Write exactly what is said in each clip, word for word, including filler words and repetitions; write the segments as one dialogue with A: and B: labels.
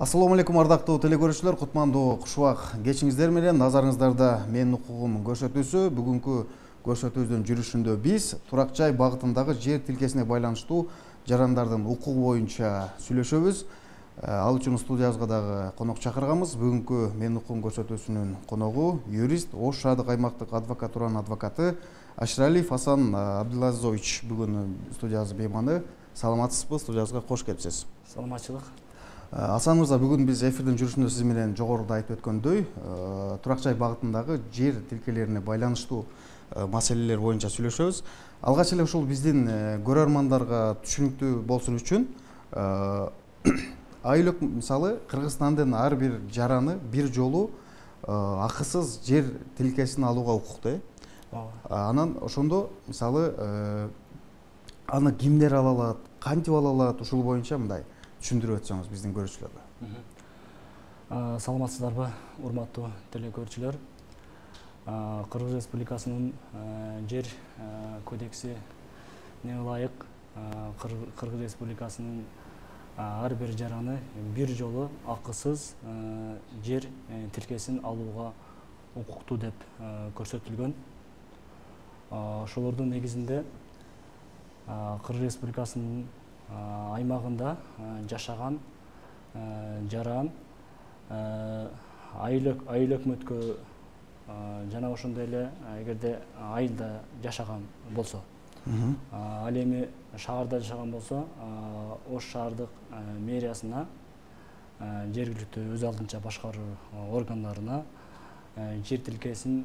A: Ассаламу алейкум ардактуу телекөрүүчүлөр, кутмандуу кушубак кечиңиздер менен. Назарыңыздарда менин укугум көрсөтүүсү. Бүгүнкү көрсөтүүбүздүн жүрүшүндө биз турак жай багытындагы жер тилкесине байланыштуу жарандардын укугу боюнча сүйлөшөбүз. Ал үчүн студиябызга дагы конок чакырганбыз. Бүгүнкү менин укугум көрсөтүүсүнүн коногу юрист, Ош шаардык аймактык адвокатуранын адвокаты Аширалиев Асан Абдулазизович бүгүн студиябыздын мейманы. Саламатсызбы? Студиябызга кош келипсиз.
B: Саламатчылык.
A: Асан мырза, бүгүн биз эфирдин жүрүшүндө сиз менен жогоруда айтып өткөндөй, турак жай багытындагы жер тилкелерине байланыштуу маселелер боюнча сүйлөшөбүз. Алгач эле ушул биздин көрөрмандарга түшүнүктүү болсун үчүн айылык мисалы Кыргызстандын ар бир жараны бир жолу акысыз жер тилкесин алууга укуктуу. Анан ошондо мисалы аны кимдер ала алат, кантип ала алат, ушул боюнча мындай түшүндүрүп өтсөңүз биздин көрүүчүлөргө.
B: Саламатсыздарбы, урматтуу телекөрүүчүлөр. Кыргыз Республикасынын жер кодексине ылайык Кыргыз Республикасынын ар бир жараны бир жолу акысыз жер тилкесин алууга укуктуу деп көрсөтүлгөн. Ошолордун негизинде Кыргыз Республикасынын аймагында жашаган жаран айыл өкмөткө жана ошондой эле эгерде айылда жашаган болсо, ал эми шаарда жашаган болсо Ош шаардык мэриясына, жергиликтүү өз алдынча башкаруу органдарына жер тилкесин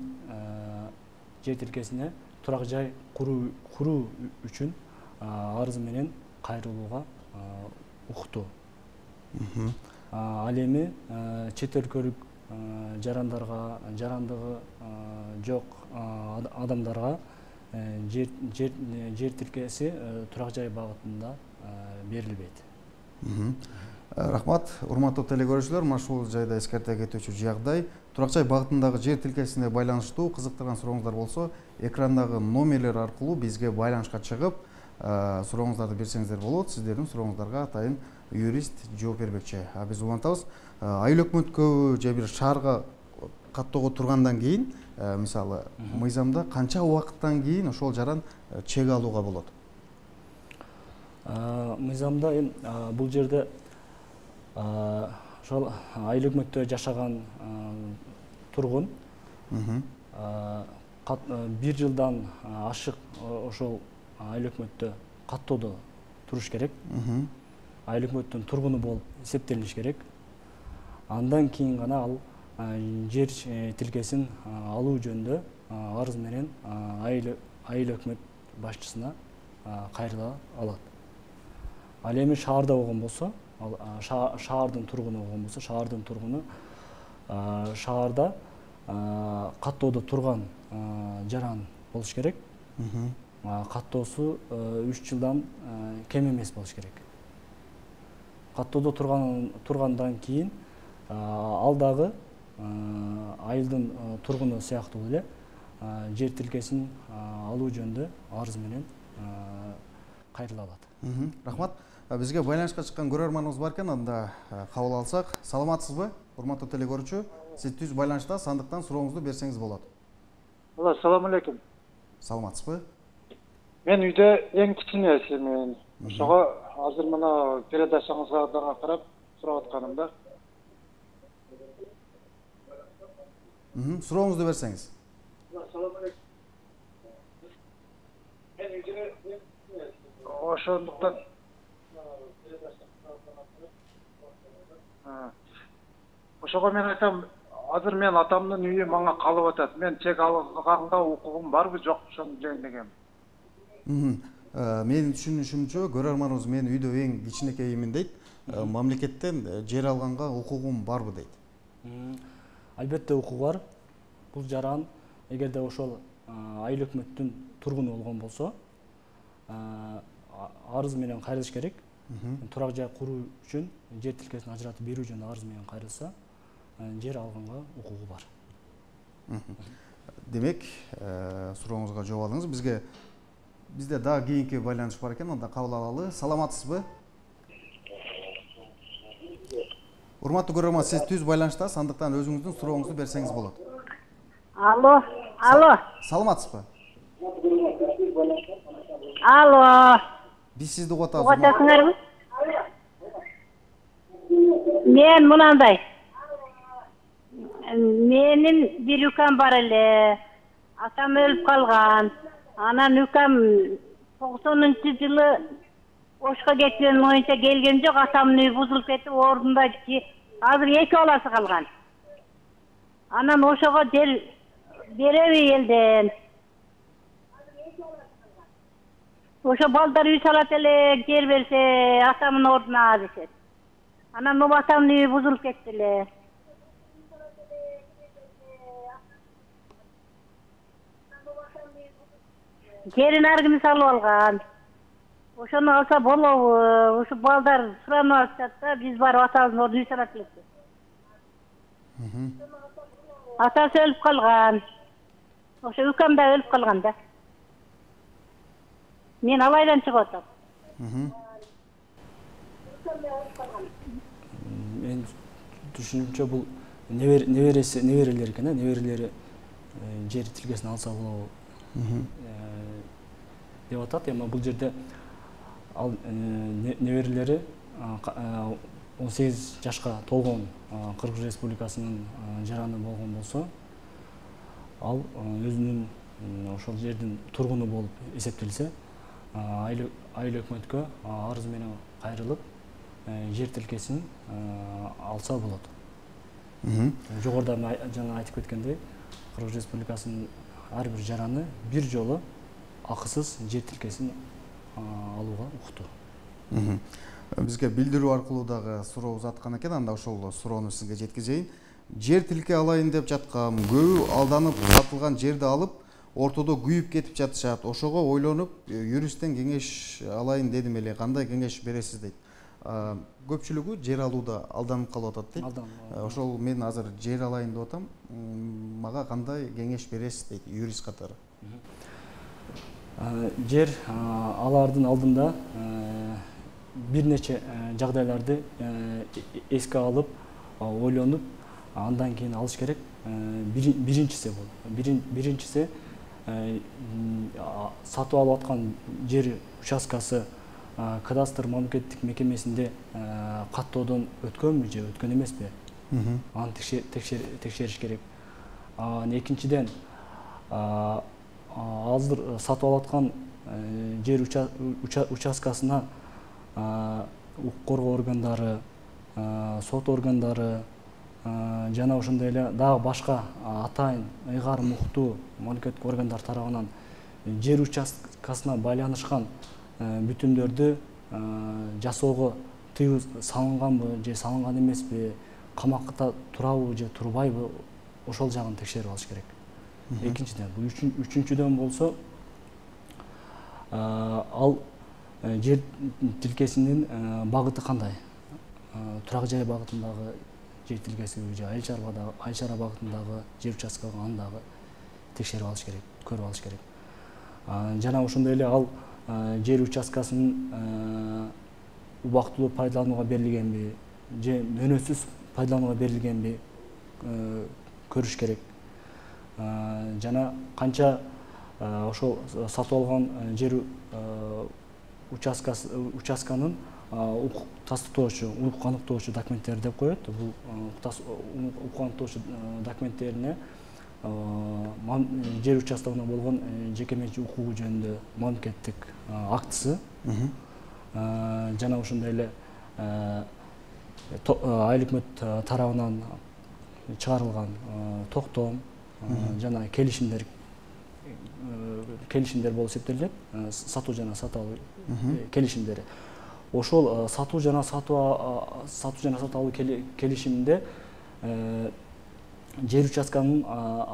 B: жер тилкесине турак жай куруу үчүн арыз менен кайрылууга укуктуу. Ал эми чет өлкөлүк жарандарга, жарандыгы жок адамдарга жер тилкеси турак жай багытында берилбейт.
A: Рахмат, урматтуу телекөрүүчүлөр, мына ушул жайда эскерте кетүүчү жагдай. Турак жай багытындагы жер тилкесине байланыштуу кызыктырган сурооңуздар болсо, экрандагы номерлер аркылуу бизге байланышка чыгып, сурооңуздарды берсеңиздер болот. Сиздердин сурооңуздарга атайын юрист жооп бермекчи. А биз улантабыз. Айыл өкмөткө же бир шаарга каттоого тургандан кийин, мисалы, мыйзамда канча убакыттан кийин ошол жаран чек алууга болот?
B: Мыйзамда бул жерде ошол айыл өкмөттө жашаган тургун бир жылдан ашык ошол айыл өкмөттө каттоодо туруш керек. Айыл өкмөттүн тургуну болуп эсептелиш керек. Андан кийин гана ал жер тилкесин алуу жөнүндө арыз менен айыл өкмөт башчысына кайрыла алат. Ал эми шаарда болгон болсо, шаардын тургуну болгон болсо, шаардын тургуну шаарда каттоодо турган жаран болуш керек. Каттоосу үч жылдан кем эмес болуш керек. Каттоодо тургандан кийин ал дагы айылдын тургуну сыяктуу эле жер тилкесин алуу жөнүндө арыз менен кайрыла алат.
A: Рахмат. Бизге байланышка чыккан көрөрманыбыз бар экен, анда кабыл алсак. Саламатсызбы, урматтуу телекөрүүчү? Сиз түз байланышта, сандыктан сурооңузду берсеңиз болот.
C: Ассаламу алейкум.
A: Саламатсызбы?
C: Мен үйдө эң кичинесимин. Ошого азыр мына передачаңызга дагы карап сурап атканым да.
A: Сурооңузду берсеңиз.
C: Ассаламу алейкум. Мен үйдө ошондуктан ошого мен айтам, азыр мен атамдын үйү мага калып атат. Мен чек алганга укугум барбы, жок, ошону жөнүндө.
A: Менин түшүнүшүмчө, көрөрманыбыз мен үйдө эң кичинекеймин дейт. Мамлекеттен жер алганга укугум барбы дейт.
B: Албетте укугу бар. Бул жаран эгерде ошол айыл өкмөттүн тургуну болгон болсо, арыз менен кайрылыш керек. Турак жай куруу үчүн жер тилкесин ажыратып берүү жөнүндө арыз менен кайрылса, жер алганга укугу бар.
A: Демек, сурооңузга жооп алдыңыз. Бизге бизде дагы кийинки байланыш бар экен, анда кабыл алалы. Саламатсызбы? Урматтуу көрөрман, сиз түз байланыштасыз, андыктан өзүңүздүн сурооңузду берсеңиз болот.
D: Алло, алло.
A: Саламатсызбы?
D: Алло.
A: Биз сизди угуп атабыз.
D: Угуп атасыңарбы? Мен мынандай. Менин бир укам бар эле. Атам өлүп калган. Анан укам токсонунчу жылы Ошко кеткен боюнча келген жок, атамдын үйү бузулуп кетип, ордунда азыр эки баласы калган. Анан ошого жер береби элден. Ошо балдар үй салат эле, жер берсе атамдын ордуна дешет. Анан могу атамдын үйү бузулуп кетти эле. Жерин ар ким салып алган. Ошону алса болобу? Ошо балдар суранып атышат да, биз барып атабыздын ордуна үй салат элек. Атасы өлүп калган. Ошо укам да өлүп калган да. Мен алайдан чыгып атам.
B: Мен түшүнүмчө бул небереси, неберелери экен, неберелери жер тилкесин алса болобу деп атат. Эми бул жерде ал неберелери он сегиз жашка толгон Кыргыз Республикасынын жараны болгон болсо, ал өзүнүн ошол жердин тургуну болуп эсептелсе, айыл өкмөткө арыз менен кайрылып жер тилкесин алса болот. Жогоруда жана айтып кеткендей, Кыргыз Республикасынын ар бир жараны бир жолу акысыз жер тилкесин алууга укуктуу.
A: Бизге билдирүү аркылуу дагы суроо узаткан экен, анда ошол суроону сизге жеткизейин. Жер тилке алайын деп жаткан, көбү алданып сатылган жерди алып, ортодо күйүп кетип жатышат. Ошого ойлонуп, юристтен кеңеш алайын дедим эле, кандай кеңеш бересиз дейт. Көпчүлүгү жер алууда алданып калып атат дейт. Ошол мен азыр жер алайын деп атам, мага кандай кеңеш бересиз дейт юрист катары.
B: Жер алардын алдында бир нече жагдайларды эске алып, ойлонуп, андан кийин алыш керек. Биринчиси бул. Биринчиси сатып алып аткан жер участкасы кадастр мамлекеттик мекемесинде каттоодон өткөнбү же өткөн эмеспи? Аны текшериш керек. Экинчиден, азыр сатып алып аткан жер участкасына укук коргоо органдары, сот органдары жана ошондой эле дагы башка атайын ыйгар муктуу мамлекеттик органдар тарабынан жер участкасына байланышкан бүтүмдөрдү жасоого тыюу салынганбы же салынган эмеспи, камакта турабы же турбайбы, ошол жагын текшерип алыш керек. Экинчиден, үчүнчүдөн болсо, ал жер тилкесинин багыты кандай? Турак жай багытындагы жер тилкесиби же айыл чарба багытындагы жер участкасы, аны дагы текшерип алыш керек, көрүп алыш керек. Жана ошондой эле ал жер участкасын убактылуу пайдаланууга берилгенби же мөөнөтсүз пайдаланууга берилгенби көрүш керек. Жана канча ошол сатып алган жер участканын укук тастыктоочу, укук аныктоочу документтери деп коет. Бул укук аныктоочу документтерине жер участогуна болгон жеке менчик укугу жөнүндө мамлекеттик актысы, жана ошондой эле айыл өкмөт тарабынан чыгарылган токтом жана келишимдер келишимдер болуп эсептелет. Сатуу жана сатып алуу келишимдери. Ошол сатуу жана сатуу сатуу жана сатып алуу келишиминде жер участканын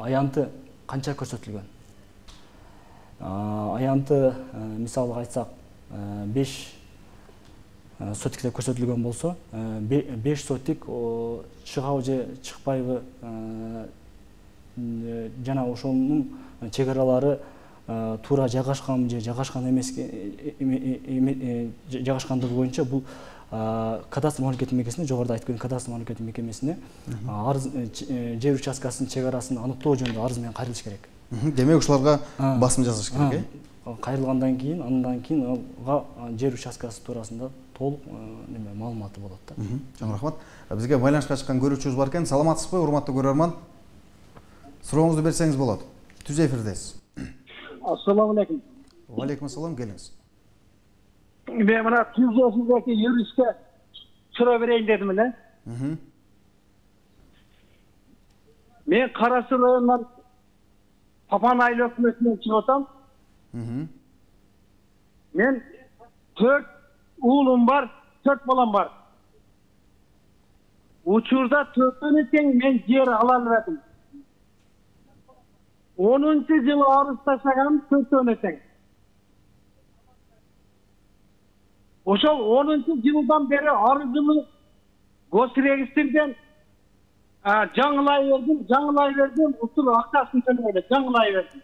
B: аянты канча көрсөтүлгөн? Аянты, мисалы айтсак, беш сотикте көрсөтүлгөн болсо, беш сотик чыгабы же чыкпайбы, жана ошонун чек-аралары туура жайгашканбы же жайгашкан эмес жайгашкандыгы боюнча бул кадастр мамлекеттик мекемесине, жогоруда айтып кеткен кадастр мамлекеттик мекемесине арыз жер участкасынын чек арасын аныктоо жөнүндө арыз менен кайрылыш керек.
A: Демек ушуларга басым жасаш керек,
B: э? Кайрылгандан кийин, андан кийин ага жер участкасы туурасында толук неме маалыматы болот да.
A: Чоң рахмат. Бизге байланышка чыккан көрүүчүбүз бар экен. Саламатсызбы, урматтуу көрөрман? Сурооңузду берсеңиз болот. Түз эфирдесиз.
E: Ассаламу алейкум.
A: Ва алейкум ассалам, келиңиз.
E: Мен мына түз эфирдеги юристке суроо берейин дедим эле. Мен Кара Суу районунан Папан айыл өкмөтүнөн чыгып атам. Мен төрт уулум бар, төрт балам бар. Учурда төртөөнү тең мен жер ала албадым. онунчу жылы арыз ташлагам, төртөөнү тең. Ошол онунчу жылдан бери арызымды госрегистрден жаңылай бердим, жаңылай бердим, ушул акчасын төлөбөдү, жаңылай бердим.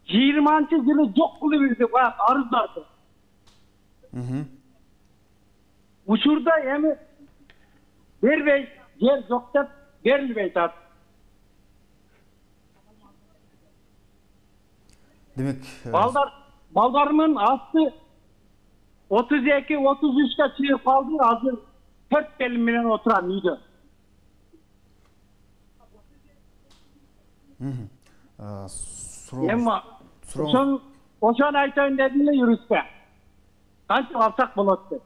E: жыйырманчы жылы жок кылып бирди баягы арыздарды. Учурда эми бербей, жер жок деп берилбей атат.
A: Демек,
E: балдар балдарымын асты отуз эки отуз үчкө чыгып калды, азыр төрт келин менен отурам үйдө. Эми ошон ошону айтайын дедим эле юристке. Канча алсак болот деп.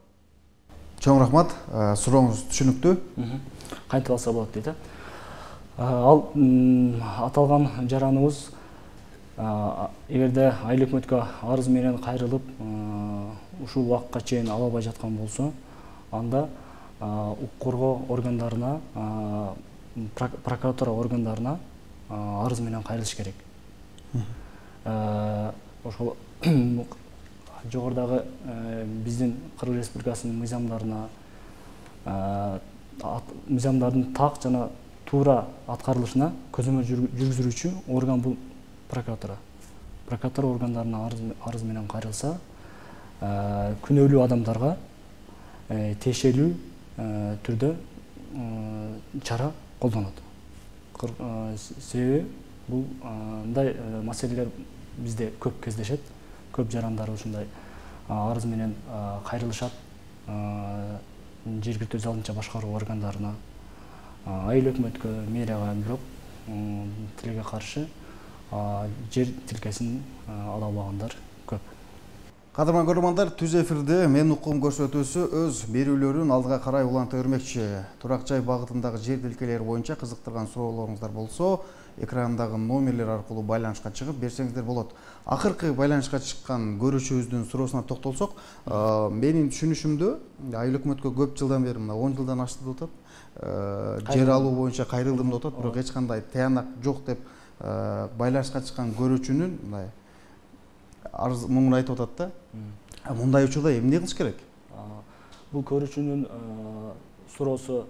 A: Чоң рахмат. Сурооңуз түшүнүктүү.
B: Кантип алса болот дейт. Ал аталган жараныбыз эгерде айыл өкмөткө арыз менен кайрылып ушул убакытка чейин ала албай жаткан болсо, анда укук коргоо органдарына, прокуратура органдарына арыз менен кайрылыш керек. Ошол жогорудагы биздин Кыргыз Республикасынын мыйзамдарына, мыйзамдардын так жана туура аткарылышына көзөмөл жүргүзүүчү орган бул прокуратура. Прокуратура органдарына арыз менен кайрылса, күнөөлүү адамдарга тиешелүү түрдө чара колдонот. Себеби бул мындай маселелер бизде көп кездешет. Көп жарандар ушундай арыз менен кайрылышат. Жергиликтүү өз алдынча башкаруу органдарына, айыл өкмөткө, мэрияга, бирок тилге каршы жер тилкесин ала албагандар көп.
A: Кадырман көрөрмандар, түз эфирде мен укугум көрсөтүүсү өз берүүлөрүн алдыга карай уланта бермекчи. Турак жай багытындагы жер тилкелери боюнча кызыктырган суроолоруңуздар болсо, экрандагы номерлер аркылуу байланышка чыгып берсеңиздер болот. Акыркы байланышка чыккан көрүүчүбүздүн суроосуна токтолсок, менин түшүнүшүмдө айыл өкмөткө көп жылдан бери, мына он жылдан ашты деп атат. Жер алуу боюнча кайрылдым деп атат, бирок эч кандай таянак жок деп байланышка чыккан көрүүчүнүн мындай арыз муңун айтып атат да. Мындай учурда эмне кылыш керек?
B: Бул көрүүчүнүн суроосу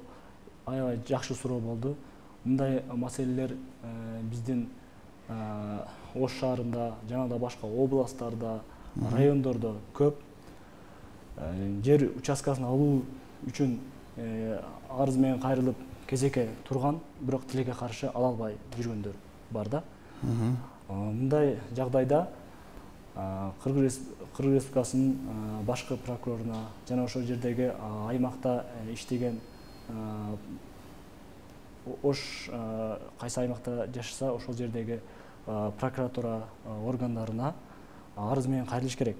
B: аябай жакшы суроо болду. Мындай маселелер биздин Ош шаарында жана да башка областтарда, райондордо көп. Жер участкасын алуу үчүн арыз менен кайрылып кезекке турган, бирок тилекке каршы ала албай жүргөндөр бар да. Мындай жагдайда Кыргыз Республикасынын башкы прокуроруна жана ошол жердеги аймакта иштеген Ош кайсы аймакта жашаса, ошол жердеги прокуратура органдарына арыз менен кайрылыш керек.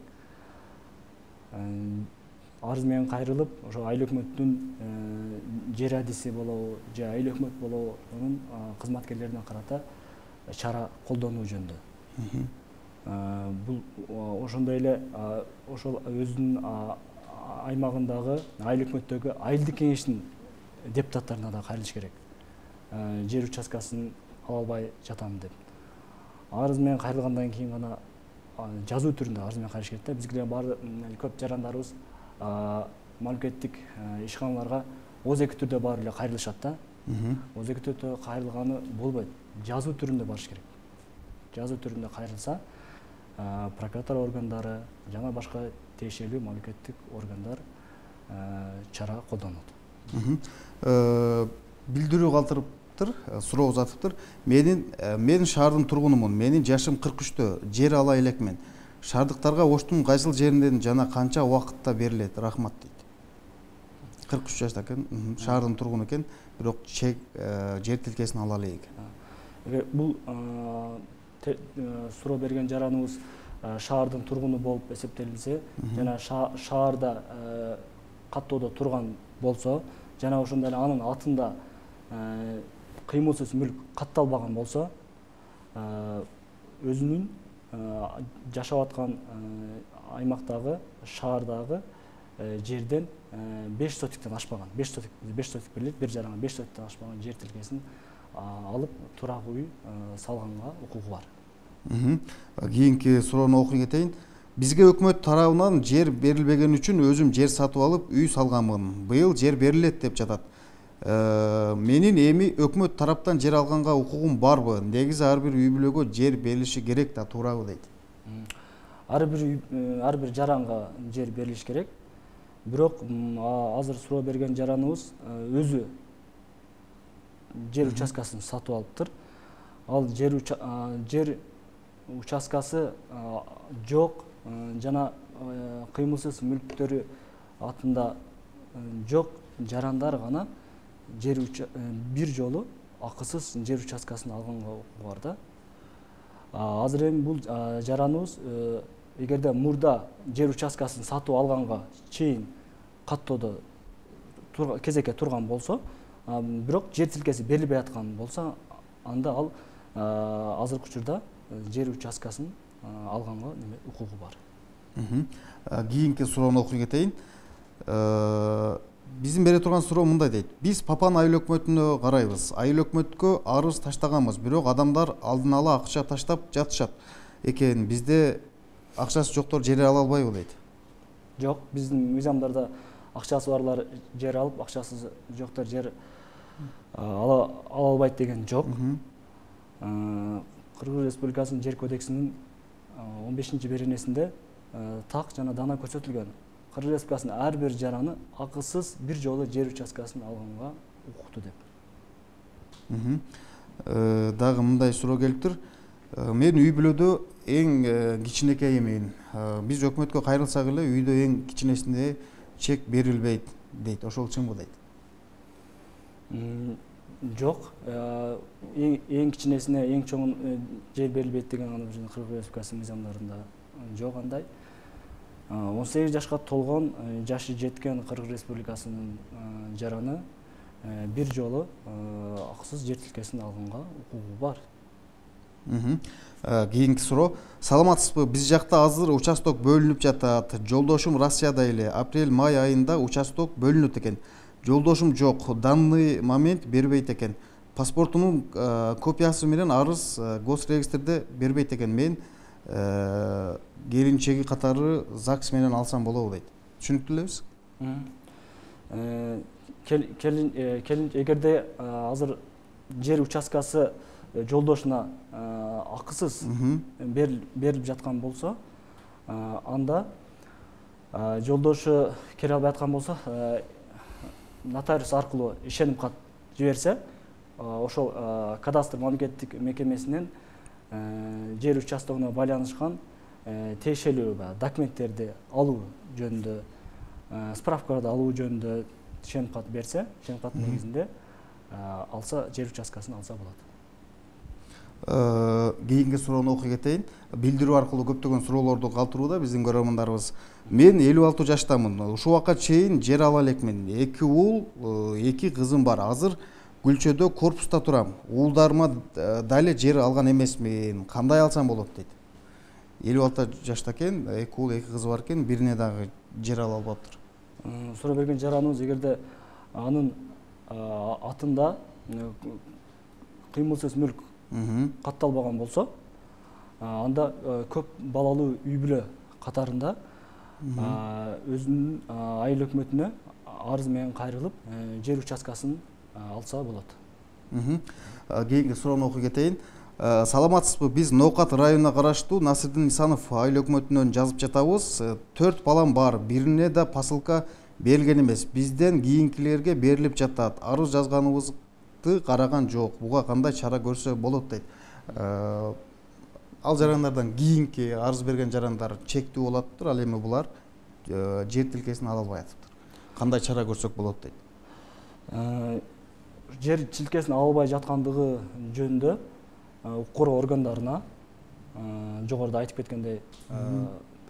B: Арыз менен кайрылып, ошо айыл өкмөттүн жер адиси болобу, же айыл өкмөт болобу, анын кызматкерлерине карата чара колдонуу жөнүндө. Бул ошондой эле ошол өзүнүн аймагындагы айыл өкмөттөгү айылдык кеңештин депутаттарына да кайрылыш керек. Жер участкасын ала албай жатам деп. Арыз менен кайрылгандан кийин гана жазуу түрүндө арыз менен кайрылыш керек да. Бизге баары көп жарандарыбыз мамлекеттик ишканаларга оз эки түрдө баары эле кайрылышат да. Оз эки түрдө кайрылганы болбойт. Жазуу түрүндө барыш керек. Жазуу түрүндө кайрылса, прокуратура органдары жана башка тиешелүү мамлекеттик органдар чара колдонот.
A: Билдирүү калтырыптыр, суроо узатыптыр. Менин мен шаардын тургунумун. Менин жашым кырк үчтө, жер ала элекмин. Шаардыктарга оштун кайсыл жеринен жана канча убакытта берилет? Рахмат дейт. кырк үч жашта экен, шаардын тургуну экен, бирок чек жер тилкесин ала элек.
B: Бул суроо берген жараныбыз шаардын тургуну болуп эсептелинсе, жана шаарда каттоодо турган болсо, жана ошондой эле анын атында кыймылсыз мүлк катталбаган болсо, өзүнүн жашап аткан аймактагы, шаардагы жерден беш сотиктен ашпаган, беш сотик берилет, бир жаранга беш сотиктен ашпаган жер тилкесин алып турак үй салганга укугу бар.
A: Кийинки суроону окуй кетейин. Бизге өкмөт тарабынан жер берилбеген үчүн өзүм жер сатып алып үй салганмын. Быйыл жер берилет деп жатат. Менин эми өкмөт тараптан жер алганга укугум барбы? Негизи ар бир үй бүлөгө жер берилиши керек да, туурабы дейт.
B: Ар бир ар бир жаранга жер берилиш керек. Бирок азыр суроо берген жараныбыз өзү жер участкасын сатып алыптыр. Ал жер жер участкасы жок, жана кыймылсыз мүлктөрү атында жок жарандар гана жер бир жолу акысыз жер участкасын алганга укугу бар да. Азыр эми бул жараныбыз эгерде мурда жер участкасын сатып алганга чейин каттоодо кезекке турган болсо, бирок жер тилкеси берилбей аткан болсо, анда ал азыркы учурда жер участкасын алганга укугу бар.
A: Кийинки суроону окуй кетейин. Биздин бере турган суроо мындай дейт. Биз Папан айыл өкмөтүнө карайбыз. Айыл өкмөткө арыз таштаганбыз, бирок адамдар алдын ала акча таштап жатышат экен. Бизде акчасы жоктор жер ала албайбы дейт.
B: Жок, биздин мыйзамдарда акчасы барлар жер алып, акчасы жоктор жер ала албайт деген жок. Кыргыз Республикасынын жер кодексинин он бешинчи беренесинде так жана дана көрсөтүлгөн. Кыргыз Республикасынын ар бир жараны акысыз бир жолу жер участкасын алганга укуктуу деп.
A: Дагы мындай суроо келиптир. Мен үй бүлөдө эң кичинекеймин. Биз өкмөткө кайрылсак эле үйдө эң кичинесине чек берилбейт дейт. Ошол чынбы дейт?
B: Жок, эң кичинесине эң чоң жер берилбейт деген аны Кыргыз Республикасынын мыйзамдарында жок андай. он сегиз жашка толгон, жашы жеткен Кыргыз Республикасынын жараны бир жолу акысыз жер тилкесин алганга укугу бар.
A: Кийинки суроо. Саламатсызбы? Биз жакта азыр участок бөлүнүп жатат. Жолдошум Россияда эле апрель-май айында участок бөлүнөт экен. Жолдошум жок, данный момент бербейт экен. Паспортунун копиясы менен арыз госрегистрде бербейт экен. Мен келинчеги катары ЗАГС менен алсам болобу дейт. Түшүнүктүү элебиз?
B: Келин эгерде азыр жер участкасы жолдошуна акысыз берилип жаткан болсо, анда жолдошу келе албай аткан болсо, нотариус аркылуу ишеним кат жиберсе, ошол кадастр мамлекеттик мекемесинен жер участогуна байланышкан тиешелүү документтерди алуу жөнүндө, справкаларды алуу жөнүндө ишеним кат берсе, ишеним каттын негизинде алса, жер участкасын алса болот.
A: Кийинки суроону окуй кетейин. Билдирүү аркылуу көптөгөн суроолорду калтырууда биздин көрөрмандарыбыз. Мен элүү алты жаштамын. Ушул убакка чейин жер ала элекмин. Эки уул, эки кызым бар. Азыр Күлчөдө корпуста турам. Уулдарыма дале жер алган эмесмин. Кандай алсам болот дейт. элүү алты жашта экен, эки уул, эки кызы бар экен, бирине дагы жер ала албаптыр.
B: Суроо берген жараныбыз эгерде анын атында кыймылсыз мүлк катталбаган болсо, анда көп балалуу үй бүлө катарында өзүнүн айыл өкмөтүнө арыз менен кайрылып жер участкасын алса болот.
A: Кийинки суроону окуй кетейин. Саламатсызбы? Биз Ноокат районуна караштуу Насырдин Исанов айыл өкмөтүнөн жазып жатабыз. төрт балам бар. Бирине да посылка берилген эмес. Бизден кийинкилерге берилип жатат. Арыз жазганыбызды караган жок. Буга кандай чара көрсө болот дейт. Ал жарандардан кийинки арыз берген жарандар чектүү болоптур. Ал эми булар жер тилкесин ала албай атыптыр. Кандай чара көрсөк болот дейт.
B: Жер тилкесин ала албай жаткандыгы жөнүндө укук коргоо органдарына, жогоруда айтып кеткендей,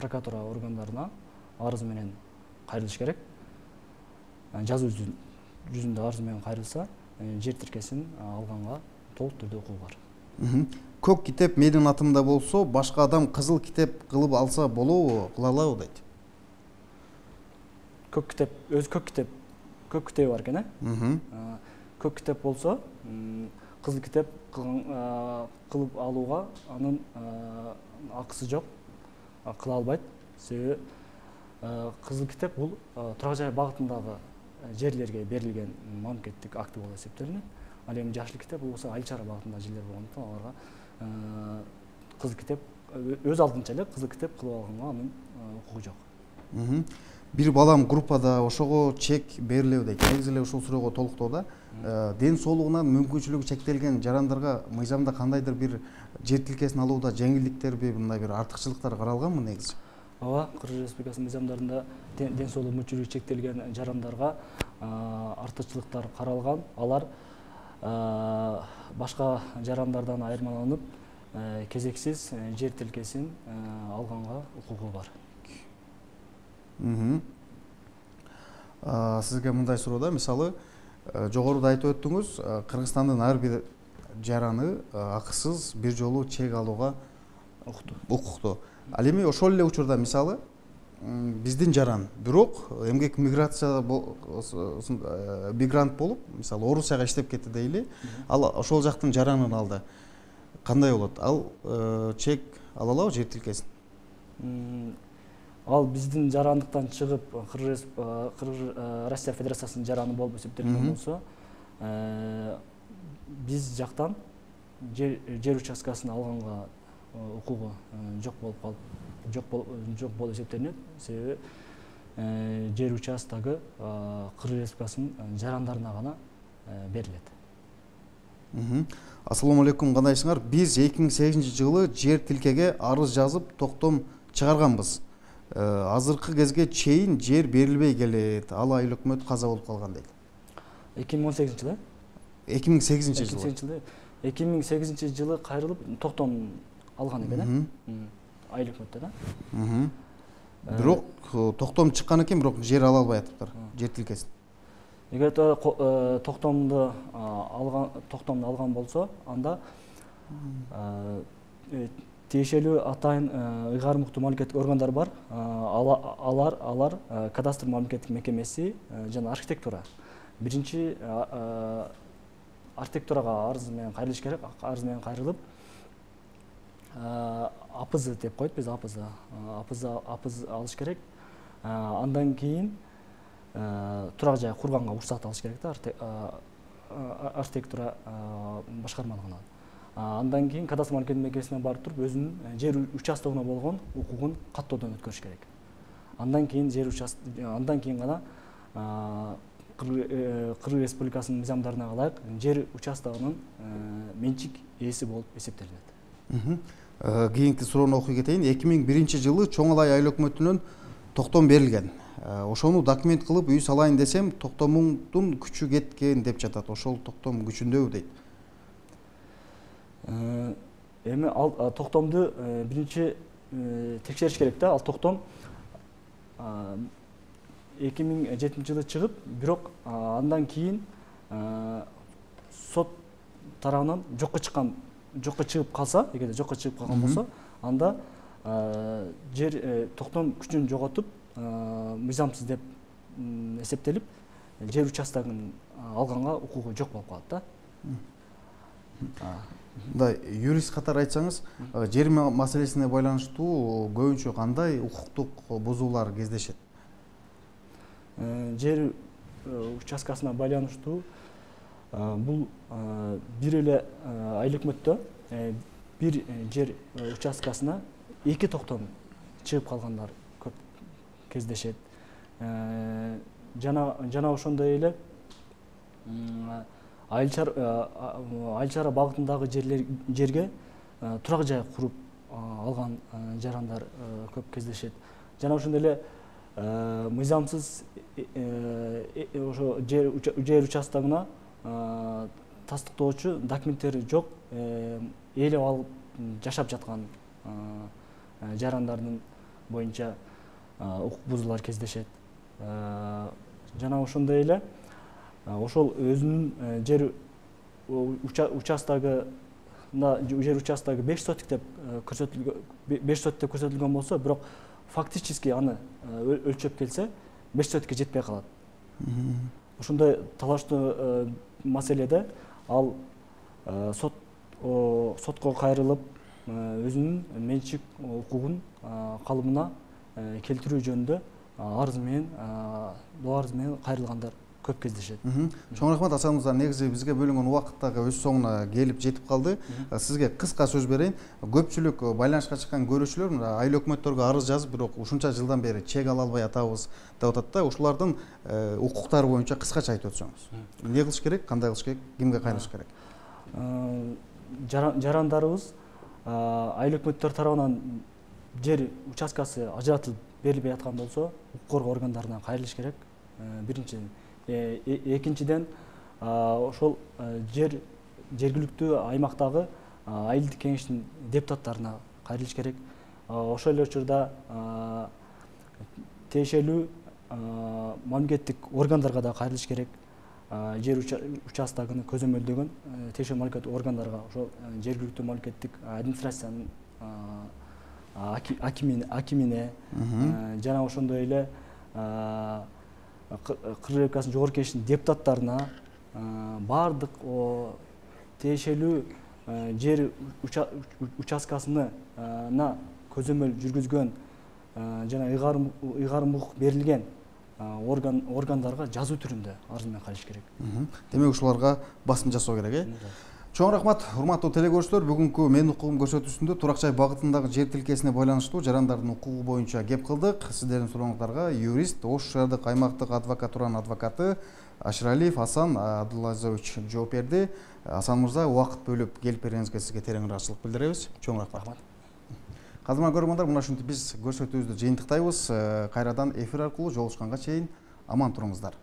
B: прокуратура органдарына арыз менен кайрылыш керек. Жазуу жүзүндө арыз менен кайрылса, жер тилкесин алганга толук түрдө укугу бар.
A: Көк китеп менин атымда болсо, башка адам кызыл китеп кылып алса болобу, кыла алабы дейт.
B: Көк китеп, өз көк китеп, көк китеби бар экен, э? Көк китеп болсо, кызыл китеп кылып алууга анын акысы жок, кыла албайт. Себеби кызыл китеп бул турак жай багытындагы жерлерге берилген мамлекеттик акты болуп эсептелинет. Ал эми жашыл китеп болсо айыл чара багытындагы жерлер болгондуктан аларга кызыл китеп өз алдынча эле кызыл китеп кылып алганга анын укугу жок.
A: Бир балам группада ошого чек берилеби дейт. Негизи эле ушул суроого толуктоодо ден соолугунан мүмкүнчүлүгү чектелген жарандарга мыйзамда кандайдыр бир жер тилкесин алууда жеңилдиктерби, мындай бир артыкчылыктар каралганбы негизи?
B: Ооба, Кыргыз Республикасынын мыйзамдарында ден соолугу мүмкүнчүлүгү чектелген жарандарга артыкчылыктар каралган. Алар башка жарандардан айырмаланып, кезексиз жер тилкесин алганга укугу бар.
A: Сизге мындай суроо, мисалы, жогоруда айтып өттүңүз, Кыргызстандын ар бир жараны акысыз бир жолу чек алууга укуктуу. Ал эми ошол эле учурда, мисалы, биздин жаран, бирок эмгек миграция мигрант болуп, мисалы, Орусияга иштеп кетти дейли, ал ошол жактын жаранын алды. Кандай болот? Ал чек ала алабы жер тилкесин?
B: Ал биздин жарандыктан чыгып Кыргыз Россия Федерациясынын жараны болуп эсептелген болсо, биз жактан жер участкасын алганга укугу жок болуп калып, жок жок болуп эсептелинет. Себеби жер участогу Кыргыз Республикасынын жарандарына гана берилет.
A: Ассаламу алейкум, кандайсыңар? Биз эки миң сегизинчи жылы жер тилкеге арыз жазып токтом чыгарганбыз. Азыркы кезге чейин жер берилбей келет. Ал айыл өкмөт каза болуп калган дейт.
B: эки миң он сегизинчи жылы?
A: эки миң сегизинчи жылы.
B: эки миң сегизинчи жылы кайрылып токтом алган экен, э? Айыл өкмөттө да.
A: Бирок токтом чыккан экен, бирок жер ала албай атыптыр, жер тилкесин.
B: Эгер токтомду алган, токтомду алган болсо, анда тиешелүү атайын ыйгарым укуктуу мамлекеттик органдар бар. Алар алар кадастр мамлекеттик мекемеси жана архитектура. Биринчи архитектурага арыз менен кайрылыш керек. Арыз менен кайрылып, АПЗ деп коет, биз АПЗ, АПЗ АПЗ алыш керек. Андан кийин турак жай курганга уруксат алыш керек да, архитектура башкармалыгынан. Андан кийин кадастр мамлекеттик мекемесине барып туруп, өзүнүн жер участогуна болгон укугун каттоодон өткөрүш керек. Андан кийин жер участок, андан кийин гана Кыргыз Республикасынын мыйзамдарына ылайык жер участогунун менчик ээси болуп эсептелинет.
A: Кийинки суроону окуй кетейин. эки миң биринчи жылы Чоң Алай айыл өкмөтүнөн токтом берилген. Ошону документ кылып үй салайын десем, токтомуңдун күчү кеткен деп жатат. Ошол токтом күчүндөбү дейт.
B: Эми ал токтомду биринчи текшериш керек да. Ал токтом эки миң жетинчи жылы чыгып, бирок андан кийин сот тарабынан жокко чыккан, жокко чыгып калса, эгерде жокко чыгып калган болсо, анда жер токтом күчүн жоготуп, мыйзамсыз деп эсептелип, жер участогун алганга укугу жок болуп калат да.
A: Мындай юрист катары айтсаңыз, жер маселесине байланыштуу көбүнчө кандай укуктук бузуулар кездешет?
B: Жер участкасына байланыштуу бул бир эле айыл өкмөттө бир жер участкасына эки токтом чыгып калгандар көп кездешет. жана жана ошондой эле айыл чара багытындагы жерлер жерге турак жай куруп алган жарандар көп кездешет. Жана ошондой эле мыйзамсыз ошо жер участогуна тастыктоочу документтери жок ээлеп алып жашап жаткан жарандардын боюнча укук бузуулар кездешет. Жана ошондой эле ошол өзүнүн жер участогу жер участогу беш сотик деп көрсөтүлгөн, беш сотик деп көрсөтүлгөн болсо, бирок фактически аны өлчөп келсе беш сотикке жетпей калат. Ошондой талаштуу маселеде ал сот сотко кайрылып өзүнүн менчик укугун калыбына келтирүү жөнүндө арыз менен доо арыз менен кайрылгандар көп кездешет.
A: Чоң рахмат Асан мырза, негизи бизге бөлүнгөн убакыт дагы өз соңуна келип жетип калды. Сизге кыска сөз берейин. Көпчүлүк байланышка чыккан көрүүчүлөр мына айыл өкмөттөргө арыз жазып, бирок ушунча жылдан бери чек ала албай атабыз деп атат да. Ушулардын укуктары боюнча кыскача айтып өтсөңүз. Эмне кылыш керек, кандай кылыш керек, кимге кайрылыш керек?
B: Жарандарыбыз айыл өкмөттөр тарабынан жер участкасы ажыратылып берилбей аткан болсо, укук коргоо органдарына кайрылыш керек. Биринчиден, экинчиден ошол жер жергиликтүү аймактагы айылдык кеңештин депутаттарына кайрылыш керек. Ошол эле учурда тиешелүү мамлекеттик органдарга да кайрылыш керек. Жер участогуну көзөмөлдөгөн тиешелүү мамлекеттик органдарга, ошол жергиликтүү мамлекеттик администрациянын акимине жана ошондой эле Кыргыз Республикасынын жогорку кеңешинин депутаттарына баардык тиешелүү жер участкасына көзөмөл жүргүзгөн жана ыйгарым укук берилген органдарга жазуу түрүндө арыз менен кайрылыш керек.
A: Демек ушуларга басым жасоо керек, э? Чоң рахмат, урматтуу телекөрүүчүлөр. Бүгүнкү Менин укугум көрсөтүүсүндө Турак жай багытындагы жер тилкесине байланыштуу жарандардын укугу боюнча кеп кылдык. Сиздердин сурооңуздарга юрист, Ош шаардык аймактык адвокатуранын адвокаты Ашыралиев Асан Абдулазович жооп берди. Асан мырза, убакыт бөлүп келип бергениңизге сизге терең ыраазычылык билдиребиз. Чоң рахмат. Кадырман көрөрмандар, мына ушинтип биз көрсөтүүбүздү жыйынтыктайбыз. Кайрадан эфир аркылуу жолугушканга чейин аман туруңуздар.